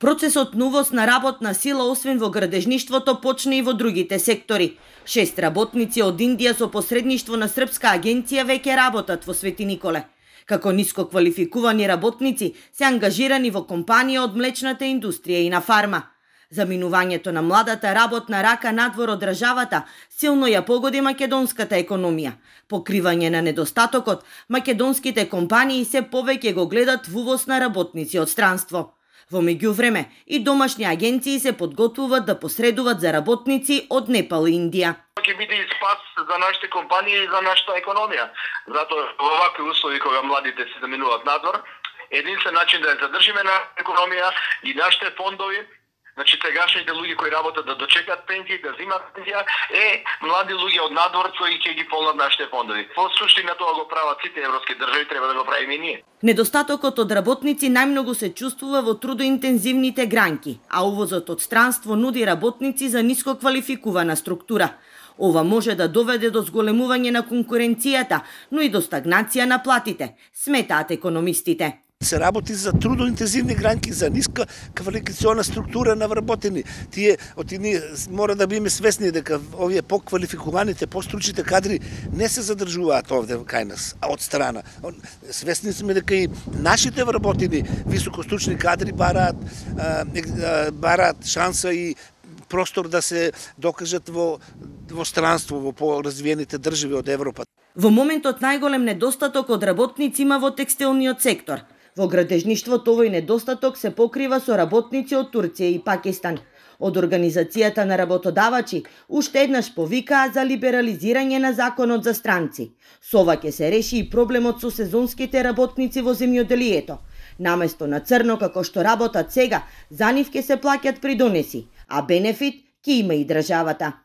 Процесот на увоз на работна сила освен во градежништвото почна и во другите сектори. 6 работници од Индија со посредништво на српска агенција веќе работат во Свети Николе. Како ниско квалификувани работници се ангажирани во компанија од млечната индустрија и на фарма. Заминувањето на младата работна рака надвор од државата силно ја погоди македонската економија. Покривање на недостатокот, македонските компании се повеќе го гледат во увоз на работници од странство. Во меѓувреме, и домашни агенции се подготвуваат да посредуваат за работници од Непал и Индија. Ќе биде и спас за нашите компании и за нашата економија. Затоа во вакви услови кога младите се заминуваат надвор, единствен начин да ја задржиме на економија и нашите фондови, значи сегашните луѓе кои работат да дочекат пензија, да земат пензија, млади луѓе од надвор кои ќе ги полнат нашите фондови. Во суштина тоа го прават сите европски држави, треба да го правиме и ние. Недостатокот од работници најмногу се чувствува во трудоинтензивните гранки, а увозот од странство нуди работници за ниско квалификувана структура. Ова може да доведе до зголемување на конкуренцијата, но и до стагнација на платите, сметаат економистите. Се работи за трудоинтензивни гранки, за ниска квалификациона структура на вработени. Тие мора да биме свесни дека овие поквалификуваните, постручните кадри не се задржуваат овде кај нас, а од страна. Свесни сме дека и нашите вработени високостручни кадри бараат шанса и простор да се докажат во странство, во поразвиените држави од Европа. Во моментот најголем недостаток од работници има во текстилниот сектор. Во градежништвото овој недостаток се покрива со работници од Турција и Пакистан. Од Организацијата на работодавачи уште еднаш повикаа за либерализирање на законот за странци. Со ова ќе се реши и проблемот со сезонските работници во земјоделието. Наместо на црно како што работат сега, за нив ќе се плаќат придонеси, а бенефит ќе има и државата.